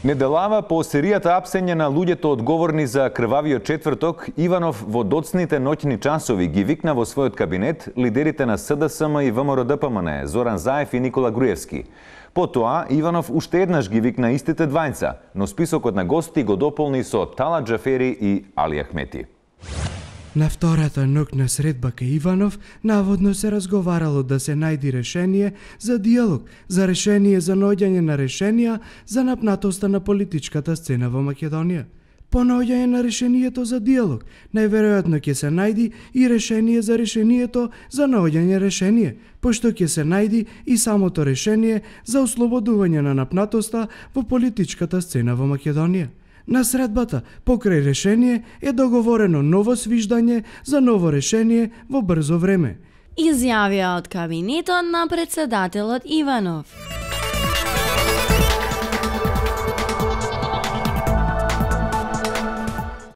Неделава по серијата апсење на луѓето одговорни за крвавиот четврток, Иванов во доцните ноќни часови ги викна во својот кабинет лидерите на СДСМ и ВМРО-ДПМН, Зоран Заев и Никола Груевски. Потоа, Иванов уште еднаш ги викна истите двајца, но списокот на гости го дополни со Талат Джафери и Али Ахмети. На втората ноќна средба кај Иванов, наводно се разговарало да се најди решение за диалог, за решение за наоѓање на решенија за напнатоста на политичката сцена во Македонија. По наоѓање на решението за диалог, најверојатно ќе се најди и решение за решението за наоѓање решение, пошто ќе се најди и самото решение за ослободување на напнатоста во политичката сцена во Македонија. На средбата, покрај решение, е договорено ново свиждање за ново решение во брзо време. Изјавија од кабинетот на председателот Иванов.